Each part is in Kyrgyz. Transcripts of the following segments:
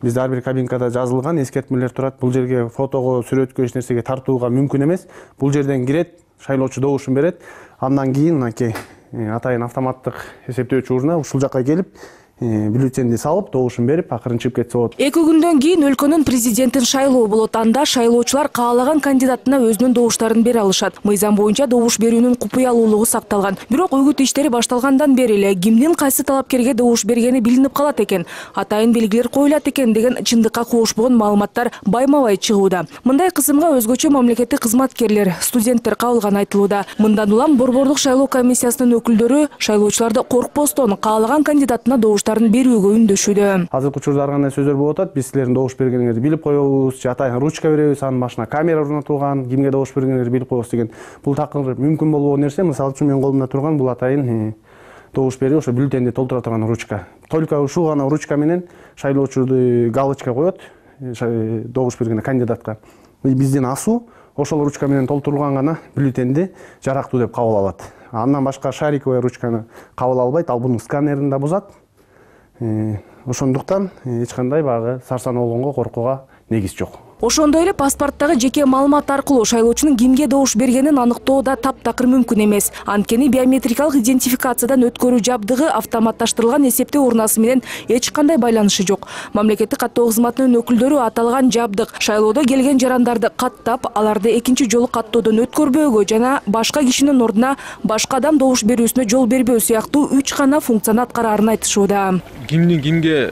Бизде ар бир кабинкада жазылган эскертмелер турат. Бул жерге фотого, сүрөткө эч нерсеге тартууга мүмкүн эмес. Бул жерден кирет, шайлоочу добушун берет. Андан кийин мынакей атайын автоматтык эсептөөчү урна ушул жакка келип, бюллетенди салып, добушун берип, акырын чыгып кетсе болот. 2 күндөн кийин өлкөнүн президентин шайлоо болот. Анда шайлоочулар каалаган кандидатына өзүнүн добуштарын бере алышат. Мыйзам боюнча добуш берүүнүн купуялуулугу сакталган. Бирок үгүт иштери башталгандан бери эле кимдин кайсы талапкерге добуш бергени билинип калат экен, атайын белгилер коюлат экен деген чындыкка куушпогон маалыматтар байма-бай чыгууда. Мындай кысымга өзгөчө мамлекеттик кызматкерлер, студенттер кабылганы айтылууда. Мындан улам Борбордук шайлоо комиссиясынын өкүлдөрү шайлоочуларды коркпостон каалаган кандидатына добуштарын берүүгө үндөшүүдө. Азыркы учурда кандай сөздөр болуп атат? Биз силердин добуш бергениңерди билип коебуз, же атайын ручка беребиз, анын башына камера орнотулган, кимге добуш бергениңерди билип коебуз деген. Бул такыр мүмкүн болбогон нерсе. Мисалы үчүн менин колумда турган бул атайын добуш берип, ошо бюллетенди толтура турган ручка. Только ушул гана ручка менен шайлоочуду галочка коет добуш берген кандидатка. Биздин асуу ошол ручка менен толтурулган гана бюллетенди жарактуу деп кабыл алат. Андан башка шариковый ручканы кабыл албайт, ал бунун сканерин да бузат. Ошондуктан эч кандай багы сарсан болгонго коркууга негиз жок. Ошондой эле паспорттогу жеке маалымат аркылуу шайлоочунун кимге добуш бергенин аныктоо да таптакыр мүмкүн эмес. Анткени биометрикалык идентификациядан өткөрүү жабдыгы автоматташтырылган эсептөө урнасы менен эч кандай байланышы жок. Мамлекеттик каттоо кызматынын өкүлдөрү аталган жабдык шайлоодо келген жарандарды каттап, аларды экинчи жолу каттоодон өткөрбөөгө жана башка кишинин ордуна башка адам добуш берүүсүнө жол бербөө сыяктуу 3 гана функцияны аткарарын айтышууда. Кимдин кимге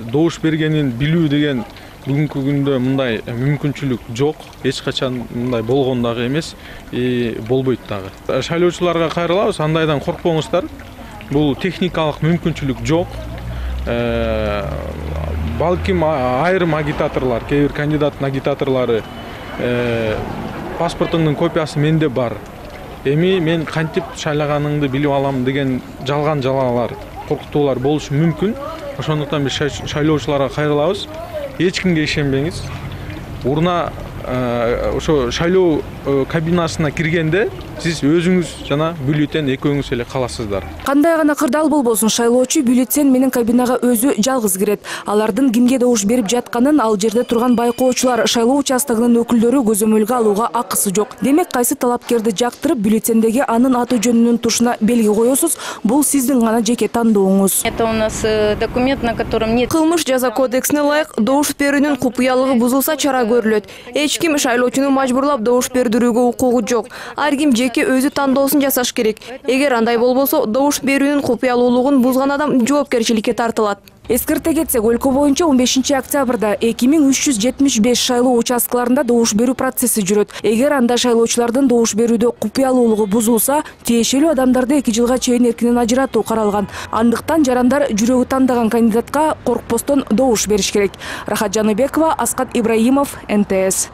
добуш бергенин билүү деген бүгүнкү күндө мындай мүмкүнчүлүк жок, эч качан мындай болгон дагы эмес, болбойт дагы. Шайлоочуларга кайрылабыз, андайдан коркпоңуздар. Бул техникалык мүмкүнчүлүк жок. Балким айрым агитаторлор, кээ бир кандидаттын агитаторлору паспортуңдун копиясы менде бар. Эми мен кантип шайлаганыңды билип алам деген жалган жалалар, коркутуулар болушу мүмкүн. Ошондуктан биз шайлоочуларга кайрылабыз. Эч кимге ишенбеңиз. Урна ошо шайлоо кабинасына киргенде сиз өзүңүз жана бюллетен экөөңүз эле каласыздар. Кандай гана кырдаал болбосун, шайлоочу бюллетен менен кабинага өзү жалгыз кирет. Алардын кимге добуш берип жатканын ал жерде турган байкоочулар, шайлоо участогунун өкүлдөрү көзөмөлгө алууга акысы жок. Демек кайсы талапкерди жактырып, бюллетендеги анын аты жөнүнүн тушуна белги коесуз, бул сиздин гана жеке тандооңуз. Это у нас документ, на котором нет. Кылмыш жаза кодексине ылайык добуш берүүнүн купуялыгы бузулса чара көрүлөт. Эч ким шайлоочуну мажбурлап добуш бердирүүгө укугу жок. Ар ким жеке өзү тандоосун жасаш керек. Эгер андай болбосо, добуш берүүнүн купуялуулугун бузган адам жоопкерчиликке тартылат. Эскерте кетсек, өлкө боюнча 15 октябрда 2375 шайлоо участкаларында добуш берүү процесси жүрөт. Эгер анда шайлоочулардын добуш берүүдө купуялуулугу бузулса, тиешелүү адамдарды 2 жылга чейин эркинен ажыратуу каралган. Андыктан жарандар жүрөгү тандаган кандидатка коркпостон добуш бериш керек. Рахат Жаныбекова, Аскат Ибраимов, НТС.